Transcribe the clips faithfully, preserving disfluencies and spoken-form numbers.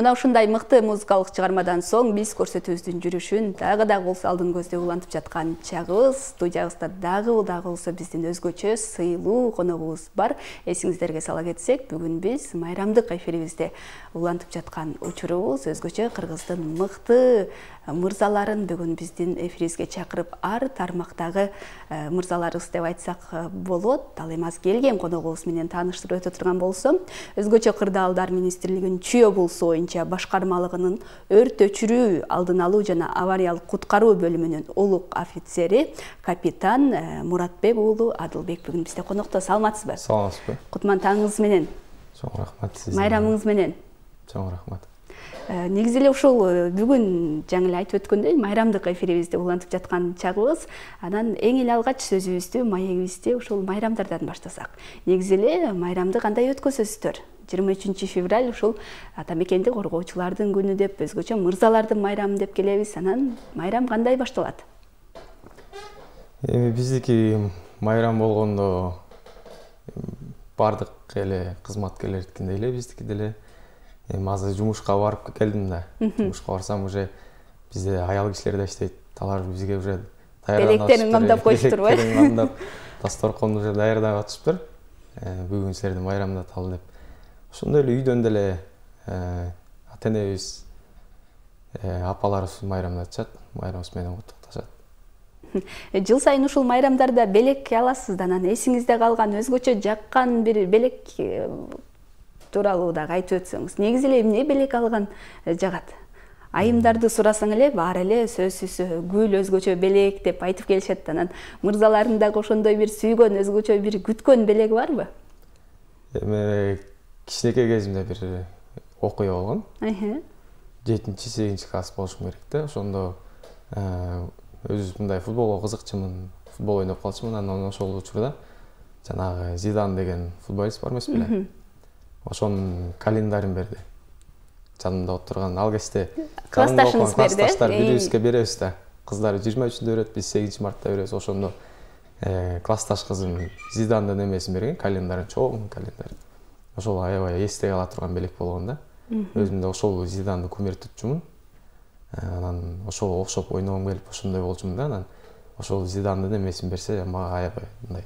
Мына ушундай мыкты музыкалык чыгармадан соң биз көрсөтүүбүздүн жүрүшүн дагы да болсо алдын көздө улантып жаткан чагыбыз. Студиябызда дагы дагы болсо биздин өзгөчө сыйлуу коногубуз бар. Эсиңиздерге сала кетсек, бүгүн биз майрамдык эфирибизде улантып жаткан учурубуз өзгөчө Кыргыздын мыкты мырзаларын бүгүн биздин эфирибизге чакырып, ар тармактагы мырзаларыбыз деп айтсак болот. Ал эми аз келген коногубуз менен тааныштырып өтө турган болсом, өзгөчө Кырдаалдар министрлигинин Чүй облусу башкармалыгынын өрт өчүрүү, алдын алуу жана авариялык куткаруу бөлүмүнүн улук офицери капитан Муратбек уулу Адылбек бүгүн бизде конокто. Саламатсызбы? Саламатсызбы. Кутман таңыңыз менен. Чоң рахмат сизге. Майрамыңыз менен. Чоң рахмат. Негизи эле ушул бүгүн жаңы эле айтып өткөндөй майрамдык эфирибизде улантып жаткан чагыбыз. Анан эң эле алгач сөзүбүздү, маегибизди ушул майрамдардан баштасак. Негизи эле майрамды кандай өткөзөсүздөр? жыйырма үчүнчү февраль ушул ата мекенди коргоочулардын күнү деп, өзгөчө мырзалардын майрамы деп келебиз. Анан майрам кандай башталат? Эми биздики майрам болгондо бардык эле кызматкерлердикиндей эле биздики деле. Эми азыр жумушка барып келдим да. Жумушка барсам уже бизде аял кишилер да иштейт. Алар бизге уже даярданып белектерин камдап коюштурбу? Белектерин камдап, дасторконду уже даярдап атышыптыр. Бүгүн силерди майрамдаталы деп. Ошондой эле үйдөн деле ата энебиз, апаларыбыз майрамдатышат, майрамыбыз менен куттукташат. Жыл сайын ушул майрамдарда белек аласыз да, анан эсиңизде калган өзгөчө жаккан бир белек тууралуу дагы айтып өтсөңүз. Негизи эле эмне белек алган жагат? Айымдарды сурасаң эле баары эле сөзсүз гүл, өзгөчө белек деп айтып келишет. Анан мырзалардын дагы ошондой бир сүйгөн, өзгөчө бир күткөн белеги барбы? Эми кичинекей кезимде бир окуя болгон. жетинчи сегизинчи класс болушум керек да. Ошондо өзү мындай футболго кызыкчумун, футбол ойноп калчумун. Анан ошол учурда жанагы Зидан деген футболист бар эмес беле? Ошонун календарин берди. Жанымда отурган ал кезде классташыңыз берди. Классташтар бирибизге беребиз да. Кыздар жыйырма үчүндө берет, биз сегизинчи мартта беребиз. Ошондо классташ кызым Зидандын эмесин берген, календарын, чоң календар. Ошол аябай эсте кала турган белек болгон да. Өзүм да ошол Зиданды күмөр tutчумун. Анан ошого окшоп ойногум келип ошондой болчумун да. Анан ошол Зидандын эмесин берсе, мага аябай мындай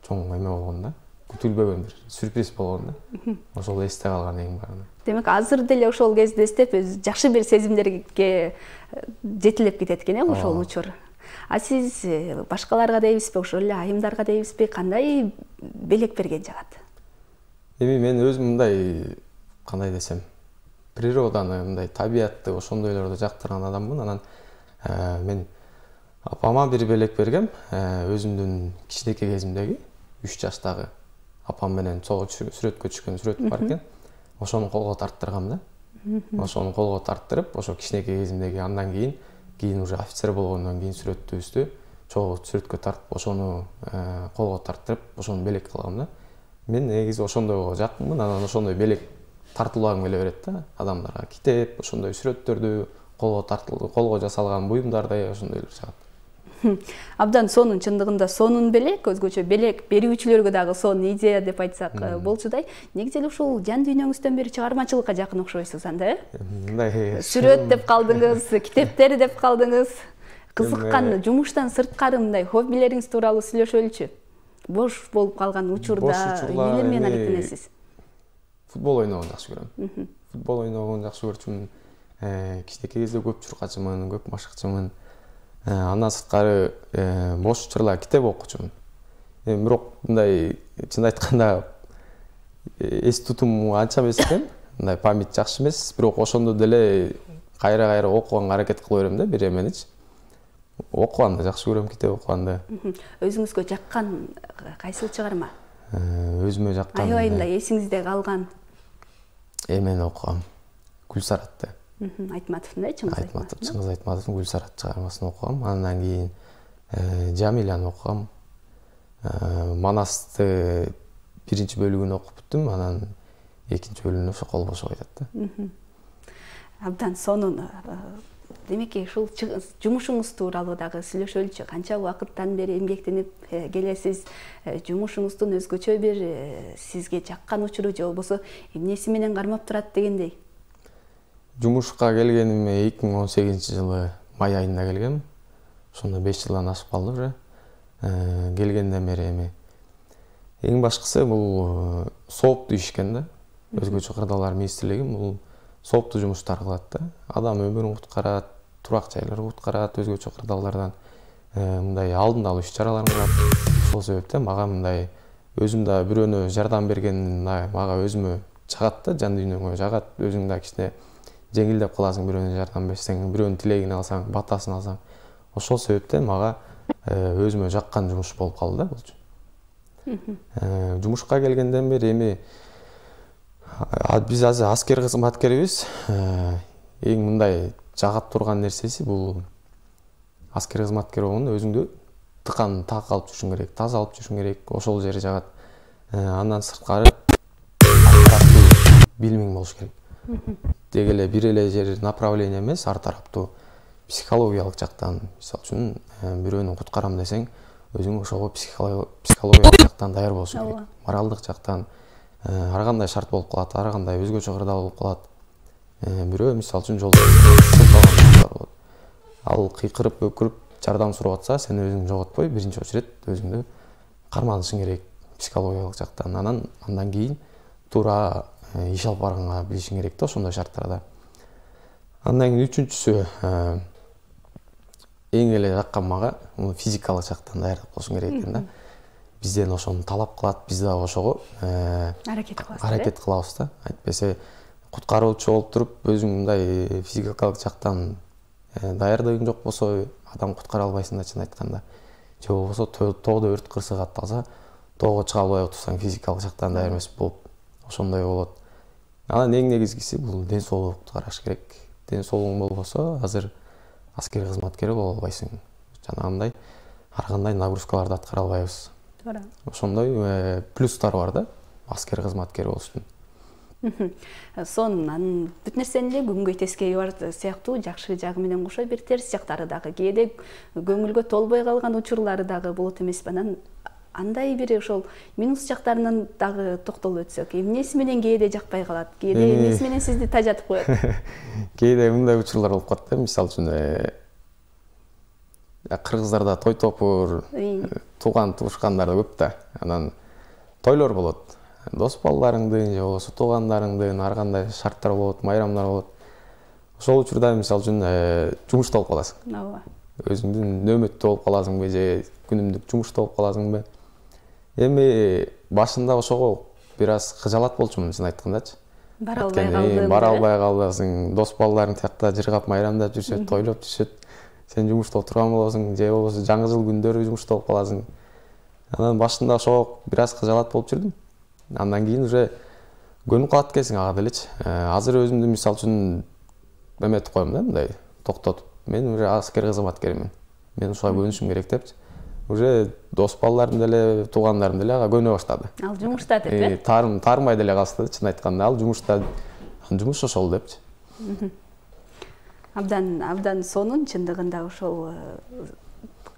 чоң эме болгон да. Күтүлбөгөн бир сюрприз болгон да. Ошол эсте калган эң баары. Демек, азыр деле ошол кезде эстеп, жакшы бир сезимдерге жетилеп кетет экен, э, ошол учур. А сиз башкаларга дейбизби, ошол эле айымдарга дейбизби, кандай белек берген жагат? Эми мен өзүм мындай, кандай десем, природаны, мындай табиятты, ошондойлорду жактырган адаммын. Анан мен апама бир белек бергем, өзүмдүн кичинекей кезимдеги, үч жаштагы апам менен чогуу сүрөткө түшкөн сүрөт бар экен. Ошону колго тарттыргам да. Ошону колго тарттырып, ошо кичинекей кезимдеги, андан кийин, кийин уже офицер болгондон кийин сүрөтүбүздү чогуу сүрөткө тартып, ошону колго тарттырып, ошону белек кылгам да. Мен негизи ошондойго жакынмын. Анан ошондой белек тартуулагым келе берет да адамдарга. Китеп, ошондой сүрөттөрдү, колго тартылган, колго жасалган буюмдарды ошондойлор жагат. Абдан сонун, чындыгында сонун белек, өзгөчө белек берүүчүлөргө дагы сонун идея деп айтсак болчудай. Негизи эле ушул жан дүйнөңүздөн бери чыгармачылыкка жакын окшойсуз анда, э? Мындай сүрөт деп калдыңыз, китептер деп калдыңыз. Кызыккан жумуштан сырткары мындай хоббилериңиз тууралуу сүйлөшөлүчү. Бош болуп калган учурда эмне менен алектенесиз? Футбол ойногонду жакшы көрөм. Футбол ойногонду жакшы көрчүмүн. Кичинекей кезде көп чуркачымын, көп машыкчымын. Андан сырткары бош учурлар китеп окучумун. Эми бирок мындай чын айтканда эс тутум анча эмес экен. Мындай память жакшы эмес, бирок ошондо деле кайра-кайра окуганга аракет кыла берем да, бир эменичи. Окуганды жакшы көрөм, китеп окуганды. Өзүңүзгө жаккан кайсыл чыгарма? Өзүмө жаккан. Аябай мындай эсиңизде калган. Эмени окугам. Гүлсаратты. Айтматовдун, э, Чыңгыз Айтматов. Чыңгыз Айтматовдун Гүлсарат чыгармасын окугам. Андан кийин Жамиляны окугам. Манасты биринчи бөлүгүн окуп бүттүм, анан экинчи бөлүгүнө ошо кол бошо айтат да. Абдан сонун демеки ушул жумушуңуз тууралуу дагы сүйлөшөлүчү. Канча убакыттан бери эмгектенип келесиз? Жумушуңуздун өзгөчө бир сизге жаккан учуру же болбосо эмнеси менен кармап турат дегендей? Жумушка келгеним эки миң он сегизинчи жылы май айында келгем. Ошондо беш жылдан ашып калды уже. Келгенден бери эми эң башкысы бул сооптуу иш экен да. Өзгөчө кырдаалар министрлиги бул сооптуу жумуштар кылат да. Адам өмүрүн куткарат, турак жайларды куткарат, өзгөчө кырдаалдардан мындай алдын алуу иш чараларын кылат. Ошол себептен мага мындай өзүм да бирөөнө жардам берген мага өзүмө жагат да, жан дүйнөмө жагат. Өзүң да кичине жеңилдеп каласың бирөөнө жардам берсең, бирөөнүн тилегин алсаң, батасын алсаң. Ошол себептен мага өзүмө жаккан жумуш болуп калды да булчу. Жумушка келгенден бери эми биз азыр аскер кызматкерибиз. Эң мындай жагат турган нерсеси бул аскер кызматкер болгондо өзүңдү тыкан так алып жүрүшүң керек, таза алып жүрүшүң керек. Ошол жери жагат. Андан сырткары билимиң болуш керек. Деги эле бир эле жер направление эмес, ар тараптуу психологиялык жактан, мисалы үчүн бирөөнү куткарам десең, өзүң ошого психологиялык жактан даяр болушуң керек. Моралдык жактан ар кандай шарт болуп калат, ар кандай өзгөчө кырдаал болуп калат. Бирөө мисалы үчүн жолдо ал кыйкырып, өкүрүп жардам сурап атса, сен өзүңдү жоготпой, биринчи очеред өзүңдү карманышың керек психологиялык жактан. Анан андан кийин туура иш алып барганга билишиң керек да ошондой шарттарда. Андан кийин үчүнчүсү эң эле жаккан мага физикалык жактан даярдык болушуң керек экен да. Бизден ошону талап кылат, биз да ошого аракет кылабыз. Аракет кылабыз да. Айтпесе куткаруучу болуп туруп, өзүң мындай физикалык жактан даярдыгың жок болсо, адам куткара албайсың да чын айтканда. Же болбосо тоодо өрт кырсыгат алса, тоого чыга албай отурсаң физикалык жактан даяр эмес болуп, ошондой болот. Анан эң негизгиси бул ден соолукту караш керек. Ден соолугуң болбосо, азыр аскер кызматкери боло албайсың. Жанагындай ар кандай нагрузкаларды аткара албайбыз. Туура. Ошондой плюстары бар да аскер кызматкери болуштун. Сонун бүт нерсенин эле күнгөй тескери бар сыяктуу жакшы жагы менен кошо бир терс жактары дагы, кээде көңүлгө толбой калган учурлары дагы болот эмеспи? Анан андай бир ошол минус жактарынан дагы токтолуп өтсөк, эмнеси менен кээде жакпай калат, кээде эмнеси менен сизди тажатып коет? Кээде мындай учурлар болуп калат да, мисалы үчүн кыргыздарда той топур, тууган туушкандар көп да. Анан тойлор болот. Дос балдарыңдын же болбосо туугандарыңдын ар кандай шарттар болот, майрамдар болот. Ошол учурда мисалы үчүн жумушта болуп каласың. Ооба. Өзүңдүн нөөмөттө болуп каласыңбы же күнүмдүк жумушта болуп каласыңбы? Эми башында ошого бир аз кыжалат болчумун чын айткандачы. Бара албай калдым. Бара албай каласың, дос балдарың тиякта жыргап майрамдап жүрүшөт, тойлоп жүрүшөт. Сен жумушта отурган болосуң, же болбосо жаңы жыл күндөрү жумушта болуп каласың. Анан башында ошого бир аз кыжалат болуп жүрдүм. Андан кийин уже көнүп калат экенсиң ага делечи. Азыр өзүмдү мисалы үчүн эметип коем да, мындай токтотуп. Мен уже аскер кызматкеримин. Мен ушуга көнүшүм керек депчи. Уже дос балдарым деле, туугандарым деле ага көнө баштады. Ал жумушта деп э? Таарым, таармай деле калышты, чын айтканда. Ал жумушта, жумуш ошол депчи. Абдан, абдан сонун, чындыгында ошол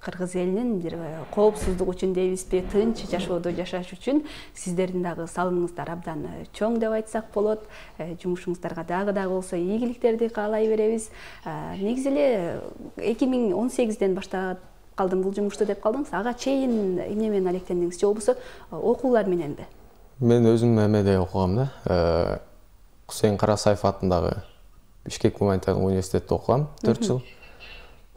кыргыз элинин бир коопсуздук үчүн дейбизби, тынч жашоодо жашаш үчүн сиздердин дагы салымыңыздар абдан чоң деп айтсак болот. Жумушуңуздарга дагы дагы болсо ийгиликтерди каалай беребиз. Негизи эле эки миң он сегизден баштап калдым бул жумушту деп калдыңыз. Ага чейин эмне менен алектендиңиз же болбосо окуулар мененби? Мен өзүм эмеде окугам да. Кусейин Карасаев атындагы Бишкек гуманитардык университетте окугам төрт жыл.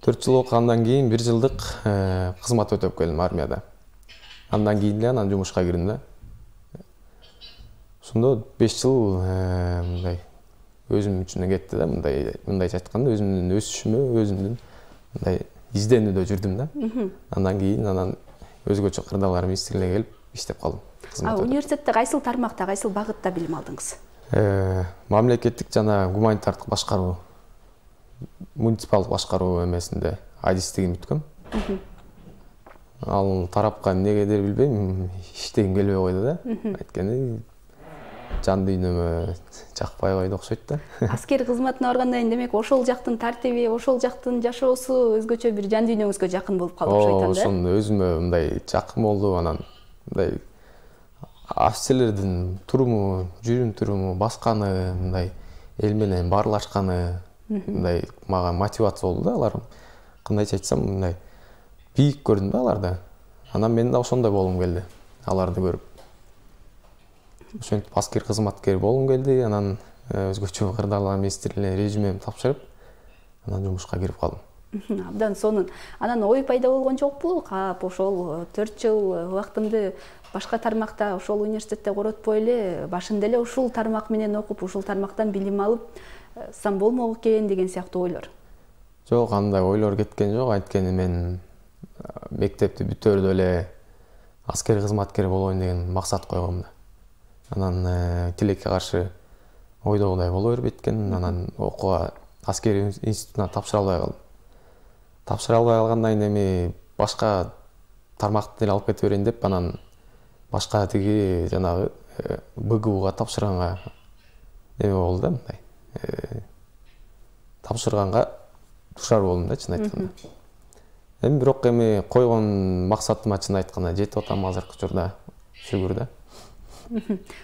төрт жыл окугандан кийин бир жылдык кызмат өтөп келдим армияда. Андан кийин эле анан жумушка кирдим да. Ошондо беш жыл мындай өзүм үчүн кетти да, мындай мындайча айтканда өзүмдүн өсүшүмө, өзүмдүн мындай изденүүдө жүрдүм да. Андан кийин анан өзгөчө кырдаалар министрлигине келип иштеп калдым. А университетте кайсыл тармакта, кайсыл багытта билим алдыңыз? Мамлекеттик жана гуманитардык башкаруу, муниципалдык башкаруу эмесинде адистигин бүткөм. Ал тарапка эмнегедир билбейм, иштегим келбей койду да. Айткени жан дүйнөмө жакпай койду окшойт да. Аскер кызматына баргандан кийин демек ошол жактын тартиби, ошол жактын жашоосу өзгөчө бир жан дүйнөңүзгө жакын болуп калды окшойт да. Ошону өзүмө мындай жакын болду, анан мындай офицерлердин туруму, жүрүм туруму, басканы, мындай эл менен баарлашканы мындай мага мотивация болду да. Алар кандайча айтсам мындай бийик көрдүм да аларды. Анан мен да ошондой болгум келди аларды көрүп. Ошентип аскер кызматкер болгум келди. Анан өзгөчө кырдаалга министрлигине резюмемди тапшырып, анан жумушка кирип калдым. Абдан сонун. Анан ой пайда болгон жокпу? Кап ошол төрт жыл убактымды башка тармакта, ошол университетте коротпой эле, башында эле ушул тармак менен окуп, ушул тармактан билим алып сам болмок экен деген сыяктуу ойлор. Жок, андай ойлор кеткен жок. Анткени мен мектепти бүтөрдө эле аскер кызматкер болоюн деген максат койгом да. Анан тилекке каршы ойдогудай боло бербейт экен. Анан окууга аскер институтуна тапшыра албай калдым. Тапшыра албай калгандан кийин эми башка тармакты эле алып кете берейин деп, анан башка тиги жанагы БГУга тапшырганга эме болду да, мындай тапшырганга душар болдум да, чын айтканда. Эми бирок эми койгон максатыма чын айтканда жетип атам азыркы учурда, шүгүр да.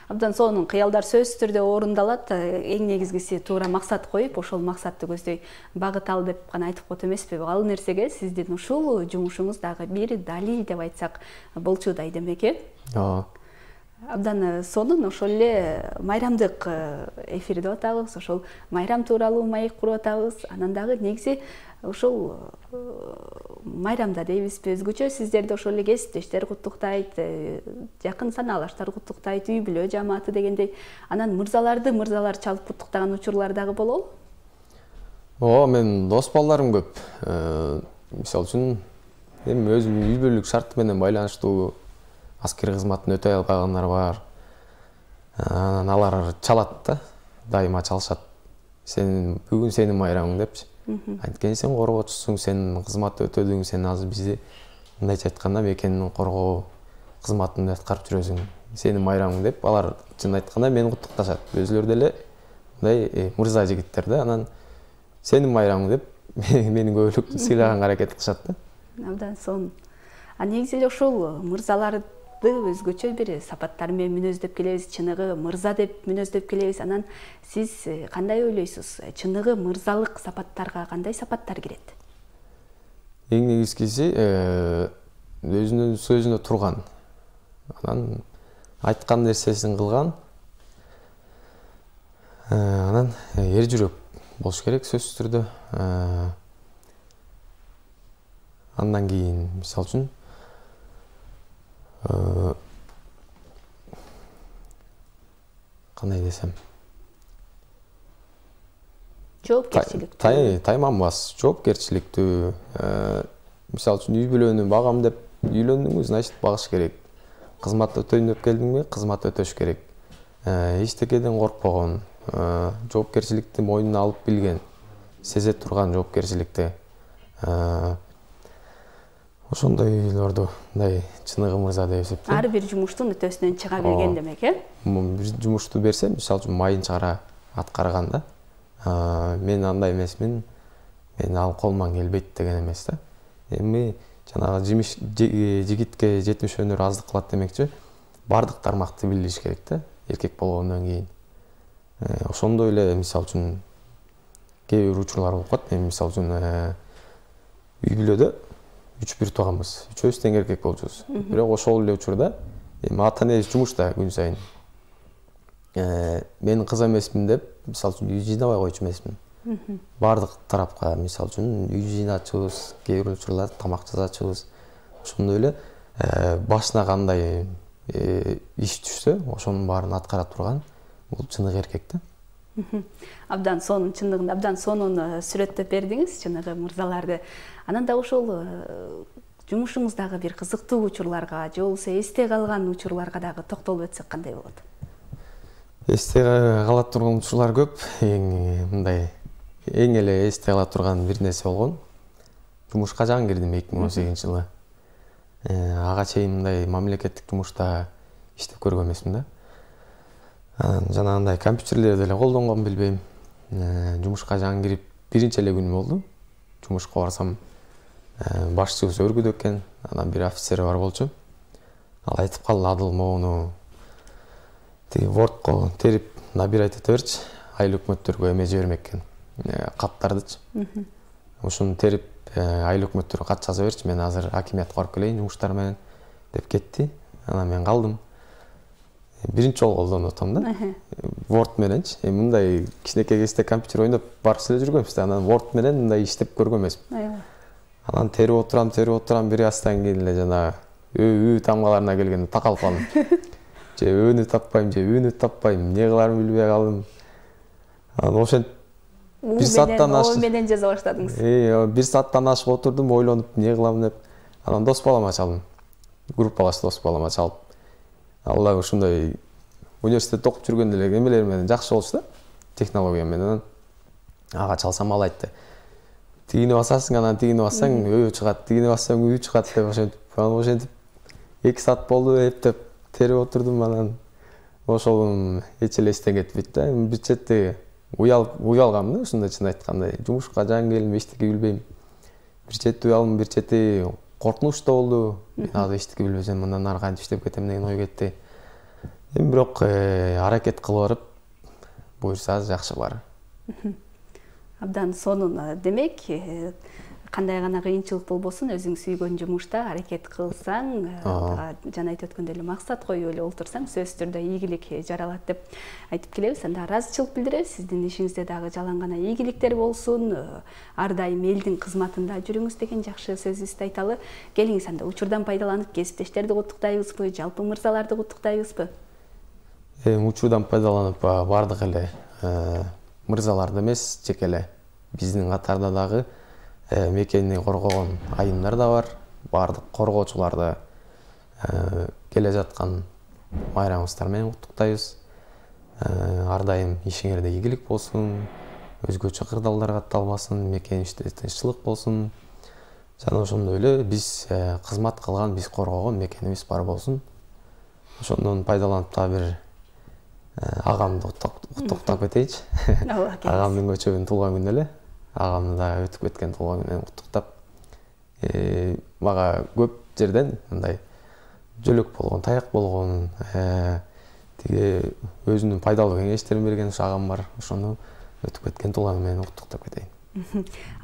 Абдан сонун, кыялдар сөзсүз түрдө орундалат. Эң негизгиси туура максат коюп, ошол максатты көздөй багыт ал деп гана айтып коет эмеспи? Ал нерсеге сиздин ушул жумушуңуз дагы бир далил деп айтсак болчудай демек, э? Ооба. Абдан сонун. Ошол эле майрамдык эфир деп атабыз. Ошол майрам тууралуу маек куруп атабыз. Анан дагы негизи ошол майрамда дейбизби, өзгөчө сиздерди ошол эле кесиптештер куттуктайт, жакын санаалаштар куттуктайт, үй бүлө жамааты дегендей. Анан мырзаларды мырзалар чалып куттуктаган учурлар дагы болобу? Ооба, мен дос балдарым көп. Мисалы үчүн, эми өзүм үй бүлөлүк шарты менен байланыштуу аскер кызматын өтөй албагандар бар. Анан алар чалат да, дайыма чалышат. Сен бүгүн сенин майрамың депчи. Анткени сен коргоочусуң, сен кызмат өтөдүң, сен азыр бизди мындайча айтканда мекенин коргоо кызматын аткарып жүрөсүң. Сенин майрамың деп алар чын айтканда мени куттукташат. Өзүлөрү деле мындай мырза жигиттер да. Анан сенин майрамың деп мени көбүлүк сыйлаганга аракет кылышат да. Абдан сонун. А негизи эле ушул мырзаларды өзгөчө бир сапаттар менен мүнөздөп келебиз, чыныгы мырза деп мүнөздөп келебиз. Анан сиз кандай ойлойсуз? Чыныгы мырзалык сапаттарга кандай сапаттар кирет? Эң негизгиси өзүнүн сөзүнө турган. Анан айткан нерсесин кылган. Анан эр жүрөк болуш керек сөзсүз түрдө. Андан кийин мисалы үчүн кандай десем, жоопкерчиликтүү, тайманбас, жоопкерчиликтүү. Мисалы үчүн үй бүлөнү багам деп үйлөндүңбү, значит багыш керек. Кызмат өтөйүн деп келдиңби, кызмат өтөш керек. Эчтекеден коркпогон, жоопкерчиликти мойнуна алып билген, сезе турган жоопкерчиликти. Ошондойлорду мындай чыныгы мырза деп эсептейм. Ар бир жумуштун өтөсүнөн чыга билген демек, э? Бир жумушту берсем, мисалы үчүн майын чыгара аткарганда, мен андай эмесмин, мен ал колуман келбейт деген эмес да. Эми жанагы жимиш жигитке жетимиш өнөр аздык кылат демекчи, бардык тармакты билиш керек да, эркек болгондон кийин. Ошондой эле мисалы үчүн кээ бир учурлар болуп калат. Мен мисалы үчүн үй бүлөдө үч бир тууганбыз. Үчөөбүз тең эркек болчубуз. Бирок ошол эле учурда эми ата энебиз жумушта күн сайын. Мен кыз эмесмин деп, мисалы үчүн үй жыйнабай койчу эмесмин. Бардык тарапка мисалы үчүн үй жыйначубыз, кээ бир учурлар тамак жасачубыз. Ошондой эле башына кандай иш түшсө, ошонун баарын аткара турган бул чыныгы эркек да. Абдан сонун, чындыгында абдан сонун сүрөттөп бердиңиз чыныгы мырзаларды. Анан да ошол жумушуңуздагы бир кызыктуу учурларга, же болбосо эсте калган учурларга дагы токтолуп өтсөк кандай болот? Эсте кала турган учурлар көп. Эң мындай эң эле эсте кала турган бир нерсе болгон. Жумушка жаңы кирдим эки миң он сегизинчи жылы. Ага чейин мындай мамлекеттик жумушта иштеп көргөн эмесмин да. Анан жанагындай компьютерлерди эле колдонгон билбейм. Жумушка жаңы кирип биринчи эле күнүм болду. Жумушка барсам, башчыбыз өргүдө экен, анан бир офицер бар болчу. Ал айтып калды, Адыл моуну тиги Wordко терип набирать эте берчи, айыл өкмөттөргө эме жибермек экен, каттардычы. Ушуну терип айыл өкмөттөргө кат жаза берчи, мен азыр акимиятка барып келейин жумуштар менен деп кетти. Анан мен калдым. Биринчи жолу колдонуп атам да. Word мененчи. Эми мындай кичинекей кезде компьютер ойноп барып эле жүргөнбүз да. Анан Word менен мындай иштеп көргөн эмесмин. Анан терип отурам, терип отурам, бир астан кийин эле жана өө тамгаларына келгенде такалып калдым. Же өөнү таппайм, же үүнү таппайм, эмне кыларымды билбей калдым. Анан ошентип бир сааттан ашык менен жаза баштадыңыз. Э, бир сааттан ашык отурдум, ойлонуп, эмне кылам деп. Анан дос балама чалдым. Группалаш дос балама чалып, ал дагы ушундай университетте окуп жүргөндө эле эмелер менен жакшы болчу да, технология менен. Ага чалсам, ал айтты: "Тигини басасың, анан тигини бассаң өө чыгат, тигини бассаң үй чыгат" деп ошентип. Анан ошентип эки саат болду, эптеп терип отурдум. Анан ошол эч эле эстен кетпейт да. Бир чети уялып уялгам да, ушундай чын айткандай. Жумушка жаңы келдим, эчтеке билбейм. Бир чети уялдым, бир чети коркунуч да болду. Мен азыр эчтеке билбесем, мындан нары кантип иштеп кетем деген ой кетти. Эми бирок аракет кылып барып, буюрса жакшы бар. Абдан сонун. Демек, кандай гана кыйынчылык болбосун, өзүң сүйгөн жумушта аракет кылсаң, жана айтып өткөндөй эле максат коюп эле олтурсаң, сөзсүз түрдө ийгилик жаралат деп айтып келебиз. Анда ыраазычылык билдиребиз. Сиздин ишиңизде дагы жалаң гана ийгиликтер болсун, ар дайым элдин кызматында жүрүңүз деген жакшы сөзүбүздү айталы. Келиңиз, анда учурдан пайдаланып кесиптештерди куттуктайбызбы, жалпы мырзаларды куттуктайбызбы? Эми учурдан пайдаланып бардык эле мырзаларды эмес, жеке эле биздин катарда дагы мекени коргогон айымдар да бар. Бардык коргоочуларды келе жаткан майрамыңыздар менен куттуктайбыз. Ар дайым ишиңерде ийгилик болсун, өзгөчө кырдаалдар катталбасын, мекенибизде тынччылык болсун. Жана ошондой эле биз кызмат кылган, биз коргогон мекенибиз бар болсун. Ошондон пайдаланып да бир агамды куттуктап кетейинчи. Агамдын көчөгүнүн туулган күнү эле. Агамды дагы өтүп кеткен туулган күнү менен куттуктап. Мага көп жерден мындай жөлөк болгон, таяк болгон, тиги өзүнүн пайдалуу кеңештерин берген агам бар. Ошону өтүп кеткен туулган күнү менен куттуктап кетейин.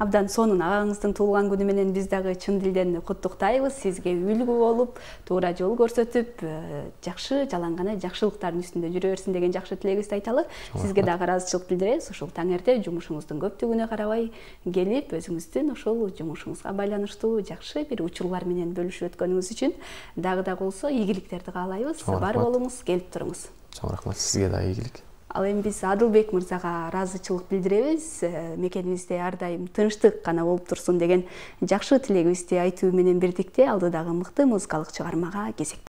Абдан сонун. Агаңыздын туулган күнү менен биз дагы чын дилден куттуктайбыз. Сизге үлгү болуп, туура жол көрсөтүп, жакшы жалаң гана жакшылыктардын үстүндө жүрө берсин деген жакшы тилегибизди айталы. Сизге дагы ыраазычылык билдиребиз. Ушул таңерте жумушуңуздун көптүгүнө карабай келип, өзүңүздүн ошол жумушуңузга байланыштуу жакшы бир учурлар менен бөлүшүп өткөнүңүз үчүн дагы да болсо ийгиликтерди каалайбыз. Бар болуңуз, келип туруңуз. Чоң рахмат, сизге дагы ийгилик. Ал эми биз Адылбек мырзага ыраазычылык билдиребиз. Мекенибизде ар дайым тынчтык гана болуп турсун деген жакшы тилегибизди айтуу менен бирдикте алдыдагы мыкты музыкалык чыгармага кезек.